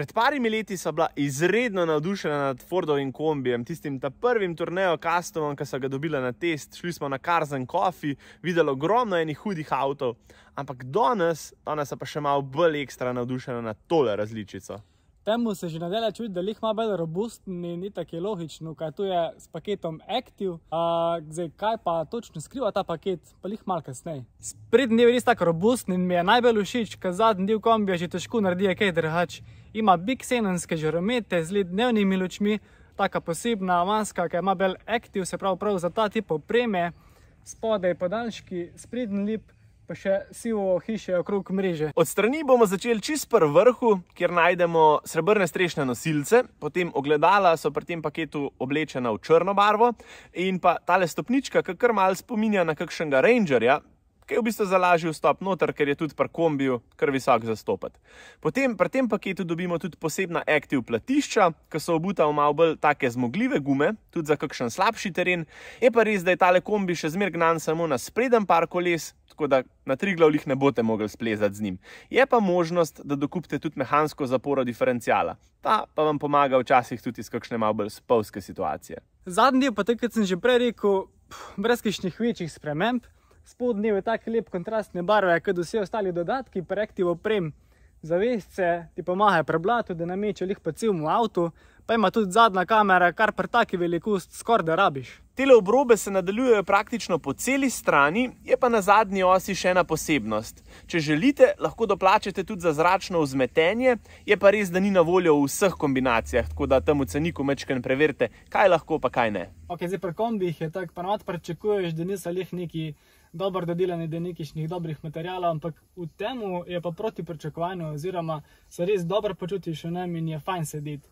Pred parimi leti so bila izredno navdušena nad Fordovim kombijem, tistim prvim Tourneo Customom, ki so ga dobila na test. Šli smo na Cars and Coffee, videli ogromno enih hudih avtov, ampak danes pa še malo bolj ekstra navdušena nad tole različico. Temu se že nadalje čuti, da lih malo bolj robusten in itak je logično, kaj tu je s paketom Active. Zdaj, kaj pa točno skriva ta paket, pa lih malo kasneje. Sprednji del je res tako robusten in mi je najbolj všeč, ker zadnji del kombija že težko naredi kaj drugače. Ima big xenonske žaromete z LED-dnevnimi lučmi, taka posebna maska, ki ima bolj Active, se prav za ta tip opreme. Spodaj podaljški, sprednji lip, pa še sivo hiše okrog mreže. Od strani bomo začeli čist pri vrhu, kjer najdemo srebrne strešne nosilce, potem ogledala so pri tem paketu oblečena v črno barvo in pa tale stopnička, ki kar malo spominja na kakšnega Rangerja, ki je v bistvu za lažji vstop noter, ker je tudi pri kombiju kar visok zastopati. Potem pri tem paketu dobimo tudi posebna Active platišča, ki so obuta v malo bolj take zmogljive gume, tudi za kakšen slabši teren. Je pa res, da je tale kombi še zmer gnan samo na spreden par koles, tako da na Triglav lih ne boste mogli splezati z njim. Je pa možnost, da dokupite tudi mehansko zaporo diferencijala. Ta pa vam pomaga včasih tudi iz kakšne malo bolj spolske situacije. Zadnji del pa tako, kot sem že prej rekel, brez kakšnih večjih sprememb. Spodnji del je tak lep kontrastne barve, kot vsi ostali dodatki, pri Active oprem. Zavesce ti pomagajo pri blatu, da namečejo lih po celemu avtu, pa ima tudi zadnja kamera, kar pri taki velikosti skoraj da rabiš. Tele obrobe se nadaljujejo praktično po celi strani, je pa na zadnji osi še ena posebnost. Če želite, lahko doplačate tudi za zračno vzmetenje, je pa res, da ni na voljo v vseh kombinacijah, tako da tam v ceniku majčkeno preverite, kaj lahko pa kaj ne. Ok, zdaj pri kombijih je tako, pa navad pričakuješ, da niso lih neki dobro dodelani, da nekih dobrih materialov, ampak v temu je pa proti pričakovanju, oziroma se res dobro počutiš v njem in je fajn sedeti.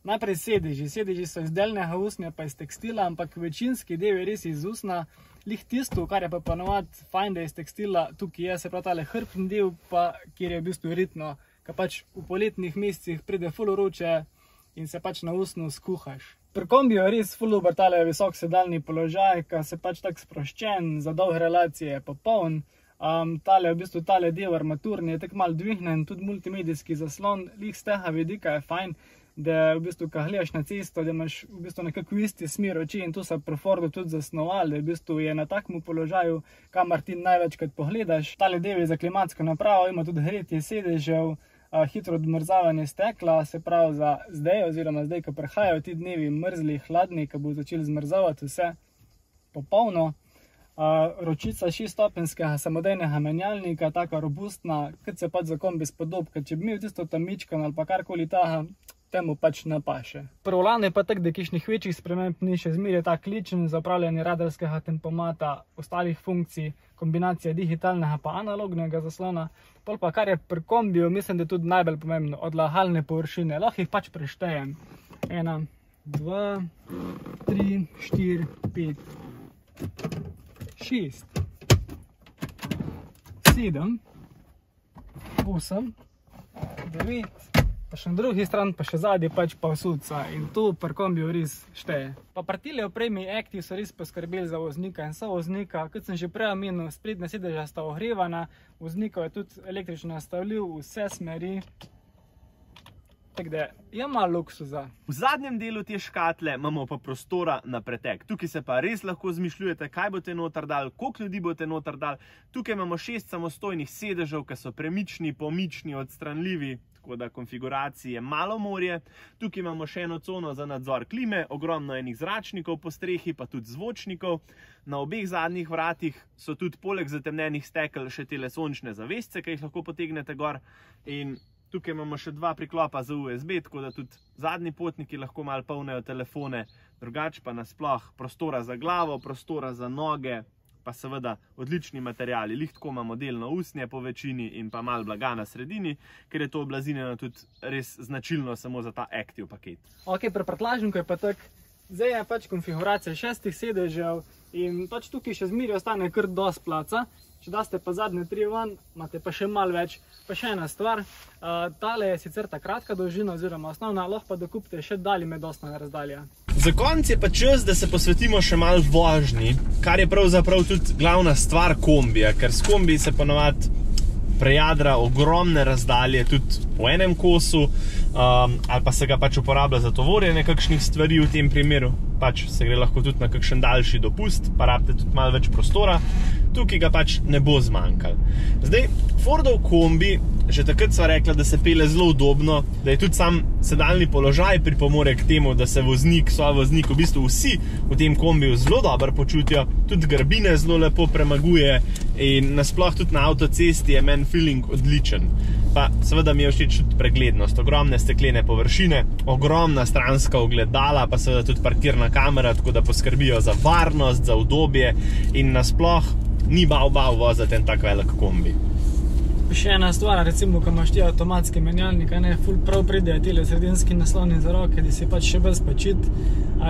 Najprej sedeži so iz delnega usnja pa iz tekstila, ampak večinski del je res iz usna. Lih tisto, kar je pa ponovadi fajn, da je iz tekstila, tukaj je se prav tale hrbtni del, pa kjer je v bistvu ritno, ker pač v poletnih mesecih pride ful vroče in se pač na usnu skuhaš. Pri kombiju je res ful dober tale visok sedalni položaj, ker se pač tak sproščen, za dolge relacije je popoln. Tale del armaturni je tak malo dvignen, tudi multimedijski zaslon, lih z tega vidika je fajn, da v bistvu, ko gledaš na cesto, da imaš v bistvu nekako isti smer oči in to so pri Fordu tudi zasnovali, da v bistvu je na takem položaju, kamor ti največkrat pogledaš. Tale del je za klimatsko napravo, ima tudi gretje sedežev, hitro odmrzavanje stekla, se pravi za zdaj, oziroma zdaj, ko prihajajo ti dnevi mrzli, hladni, ko bo začeli zmrzavati vse popolno. Ročica 6-stopenjskega samodejnega menjalnika, taka robustna, kot se pač za kombi spodob, ker če bi imel tisto tamičkan ali pa karkoli taha, temu pač ne paše. Pri volanu je pa tak, da kakšnih večjih sprememb ni, še zmeraj je tak ličen za upravljanje radarskega tempomata, ostalih funkcij, kombinacija digitalnega pa analognega zaslona. Pol pa kar je pri kombiju, mislim, da je tudi najbolj pomembno, odlagalne površine. Lahko jih pač preštejem. 1, 2, 3, 4, 5, 6, 7, 8, 9, pa še na drugi strani, pa še zadnji pač pa vsudca in to pri kombiju res šteje. Pa pri tile opremi Active so res poskrbeli za voznika in sovoznika, kot sem že prej omenil, sprednja sedeža sta ogrevana, voznikov je tudi električno nastavljiv v vse smeri. Tako da je malo luksuza. V zadnjem delu te škatle imamo pa prostora na pretek. Tukaj se pa res lahko zmišljujete, kaj boste noter dali, koliko ljudi boste noter dali. Tukaj imamo 6 samostojnih sedežev, ki so premični, pomični, odstranljivi, tako da konfiguracije malo morje. Tukaj imamo še eno cono za nadzor klime, ogromno enih zračnikov po strehi, pa tudi zvočnikov. Na obeh zadnjih vratih so tudi poleg zatemnenih stekel še tele sončne zavesce, ki jih lahko potegnete gor. In tukaj imamo še 2 priklopa za USB, tako da tudi zadnji potniki lahko malo polnejo telefone, drugače pa nasploh prostora za glavo, prostora za noge, pa seveda odlični materiali. Lih tako imamo delno usnje po večini in pa malo blaga na sredini, ker je to oblazinjeno tudi res značilno samo za ta Active paket. Ok, pri prtljažniku je pa tak, zdaj je pač konfiguracija 6 sedežev in pač tukaj še zmeraj ostane kar dosti placa. Če daste pa zadnje 3 ven, imate pa še malo več. Pa še ena stvar, tale je sicer ta kratka dolžina oziroma osnovna, lahko pa dokupite še medosna razdalja. Za konec je pa čas, da se posvetimo še malo vožnji, kar je pravzaprav tudi glavna stvar kombija, ker s kombiji se ponovadi prejadra ogromne razdalje tudi v enem kosu. ali pa se ga pač uporablja za tovorjenje kakšnih stvari v tem primeru, pač se gre lahko tudi na kakšen daljši dopust, pa rabite tudi malo več prostora, tukaj ga pač ne bo zmanjkalo. Zdaj, Fordov kombi, že takrat sva rekla, da se pele zelo udobno, da je tudi sam sedalni položaj pripomore k temu, da se voznik, sovoznik, v bistvu vsi v tem kombiju zelo dobro počutijo, tudi grbine zelo lepo premaguje in nasploh tudi na avtocesti je meni feeling odličen. Pa seveda mi je všeč tudi preglednost, ogromne steklene površine, ogromna stranska ogledala, pa seveda tudi parkirna kamera, tako da poskrbijo za varnost, za udobje in nasploh ni bav voziti en tak velik kombi. Še ena stvar, recimo, ko imaš ti avtomatski menjalnik, ful prav pridejo tile sredinski nasloni za roke, da si pač še bolj spočit.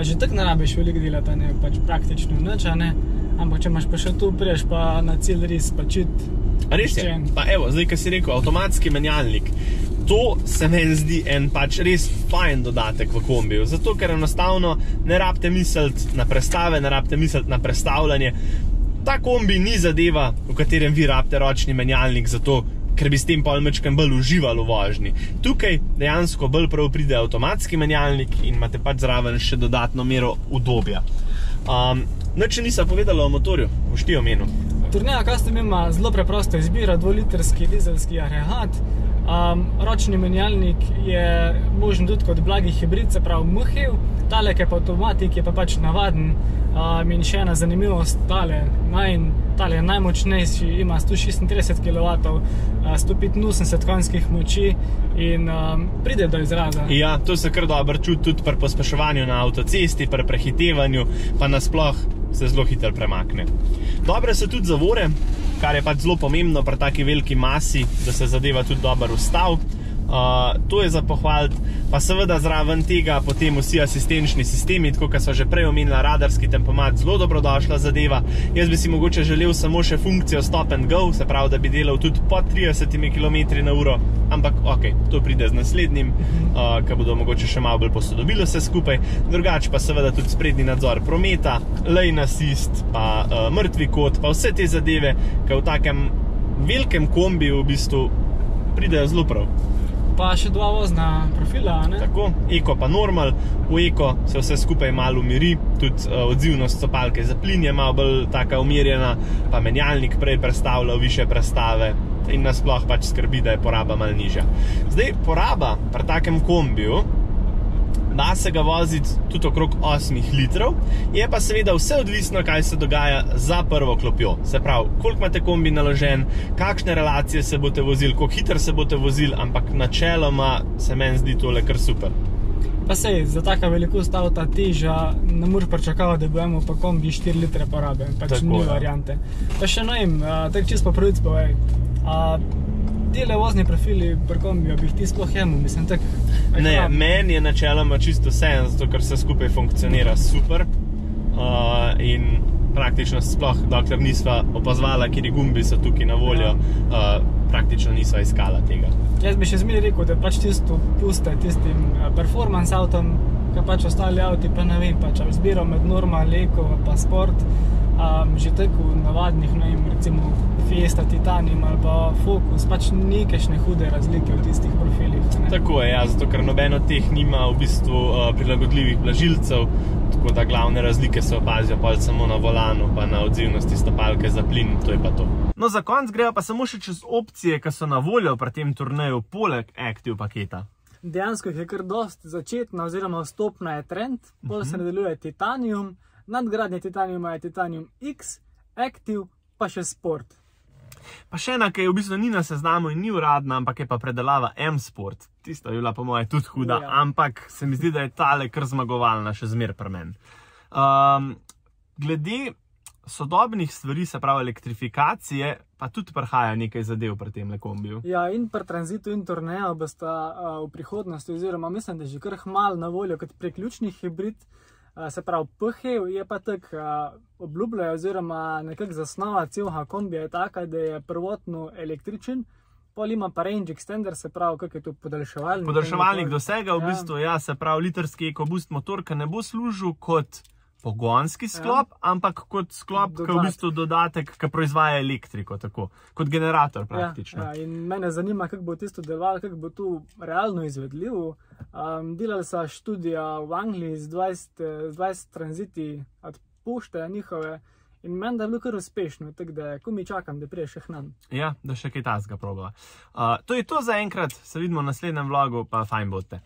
Že tako ne rabiš veliko delati, pač praktično nič, ampak če imaš pa še tu, priješ pa na cilj res spočit. Res je, pa evo, zdaj, ko si rekel, avtomatski menjalnik, to se meni zdi en pač res fajn dodatek v kombiju, zato ker enostavno ne rabite misliti na prestave, ne rabite misliti na prestavljanje. Ta kombi ni zadeva, v katerem vi rabite ročni menjalnik, zato ker bi s tem pol mečkem bolj uživali v vožnji. Tukaj dejansko bolj prav pride avtomatski menjalnik in imate pač zraven še dodatno mero udobja. Nič nisem povedala o motorju, boš ti omenil. Tourneo Custom ima zelo preprosto izbiro, 2-litrski dizelski agregat. Ročni menjalnik je možen tudi kot blagi hibrid, se pravi MHEV. Tale, ki je pa avtomatik, je pa pač navaden. In še ena zanimivost, tale je najmočnejši, ima 136 kW, 185 konjskih moči in pride do izraza. Ja, to se kar dobro čuti tudi pri pospeševanju na avtocesti, pri prehitevanju, pa nasploh se zelo hitro premakne. Dobre so tudi zavore, kar je pač zelo pomembno pri taki veliki masi, da se zadeva tudi dobro ustavi. To je za pohvaliti, pa seveda zraven tega potem vsi asistenčni sistemi, tako kot so že prej omenila, radarski tempomat, zelo dobrodošla zadeva. Jaz bi si mogoče želel samo še funkcijo stop and go, se pravi, da bi delal tudi pod 30 km/h, ampak ok, to pride z naslednjim, ki bodo mogoče še malo bolj posodobili vse skupaj. Drugače pa seveda tudi sprednji nadzor prometa, lane assist, pa mrtvi kot, pa vse te zadeve, ki v takem velikem kombiju v bistvu pridejo zelo prav. Pa še dva vozna profila, ne? Tako, eko pa normal, v eko se vse skupaj malo umiri, tudi odzivnost stopalke za plin je malo bolj taka umirjena, pa menjalnik prej prestavlja v više prestave in nasploh pač skrbi, da je poraba malo nižja. Zdaj, poraba pri takem kombiju, da se ga voziti tudi okrog 8 litrov, je pa seveda vse odvisno, kaj se dogaja za prvo klopjo. Se pravi, koliko imate kombi naložen, kakšne relacije se boste vozili, koliko hitro se boste vozili, ampak načeloma se meni zdi tole kar super. Pa sej, za taka velikost avta teža ne moreš pričakovati, da bomo pa kombi 4 litre porabe, pač ni variante. Pa še tako čisto po pravici povej, tele vozni profili pri kombiju bi jih ti sploh jemil, mislim, tako... Ne, meni je načeloma čisto vseeno, zato ker vse skupaj funkcionira super in praktično sploh, dokler nisva opazvala, kjeri gumbi so tukaj na voljo, praktično nisva iskala tega. Jaz bi še zmeraj rekel, da pač tisto puste tistim performance avtom, ki pač ostali avti, pa ne vem, pač izbiro med normal, eko pa sport, že tako v navadnih, ne vem, recimo Fiesta, Titanium ali pa Focus, pač nekajšne hude razlike v tistih profilih. Tako je, ja, zato ker noben od teh nima v bistvu prilagodljivih blažilcev, tako da glavne razlike se opazijo pol samo na volanu, pa na odzivnosti stopalke za plin, to je pa to. No, za konc grejo pa samo še čez opcije, ki so na voljo pri tem turneju, poleg Active paketa. Dejansko jih je kar dost, začetna oziroma vstopna je Trend, pol se nadaljuje Titanium, nadgradnje Titaniuma je Titanium X, Active, pa še Sport. Pa še ena, ki je v bistvu ni na seznamu in ni uradna, ampak je pa predelava M-Sport. Tista je bila po moje tudi huda, ampak se mi zdi, da je tale kar zmagovalna še zmer pri meni. Glede sodobnih stvari, se pravi elektrifikacije, pa tudi prihaja nekaj zadev pri tem kombiju. Ja, in pri Transitu in Tourneo bosta v prihodnosti, oziroma mislim, da je že kar malo na voljo kot priključni hibrid. Se pravi, PHEV je pa tako obljubljajo, oziroma nekako zasnova celega kombija je taka, da je prvotno električen, pol ima pa range extender, se pravi, kak je to podaljševalnik. Podaljševalnik dosega v bistvu, ja, se pravi, litrski EcoBoost motor, ki ne bo služil kot pogonski sklop, ampak kot sklop, ki je v bistvu dodatek, ki proizvaja elektriko, tako, kot generator praktično. Ja, in mene zanima, kako bo tisto delovalo, kako bo to realno izvedljivo. Delali so študija v Angliji z 20 tranziti od pošte njihove in meni, da je bilo kar uspešno, tako da ko mi čakam, da prije še k nam. Ja, da še kaj tasga probava. To je to za enkrat, se vidimo v naslednjem vlogu, pa fajn bote.